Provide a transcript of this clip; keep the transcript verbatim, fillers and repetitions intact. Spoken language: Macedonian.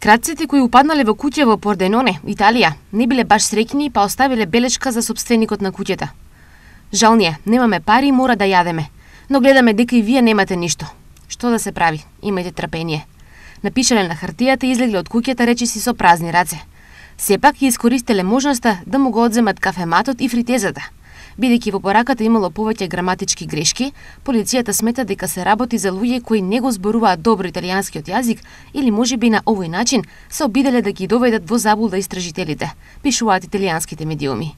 Крадците кои упаднале во куќа во Порденоне, Италија, не биле баш среќни па оставиле белешка за сопственикот на куќата. Жал ни е, немаме пари и мора да јадеме, но гледаме дека и вие немате ништо. Што да се прави? Имајте трпение. Напишале на хартијата и излегле од куќата речиси со празни раце. Сепак ја искористеле можноста да му го одземат кафематот и фритезата. Бидејќи во пораката имало повеќе граматички грешки, полицијата смета дека се работи за луѓе кои не го зборуваат добро италијанскиот јазик или можеби на овој начин се обиделе да ги доведат во заблуда истражителите, пишуваат италијанските медиуми.